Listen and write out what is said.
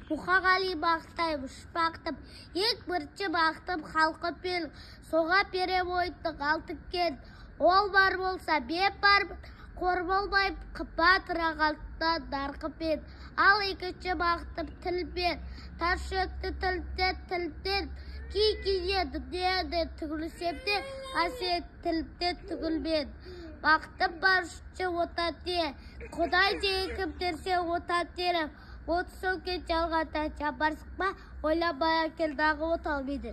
Мұқағали бақытай ұшпақтым, ең бірінші бақытым халқы пен, соға пере ойттық алтықкен. Ол бар болса, беп бар, қор болмай, қымбат рағалтта нарқыпен. Ал екінші бақытым тілмен, тас шөкті тілден, кей-кейде дүниеде түгілсем де, қасиет тілден түгілмен. Бақытым бар үшінші отан де, Құдай деген кім терсе отан терім. От сөңген жалғанда жамарсық па, ойламай әкел дағы от алмайды.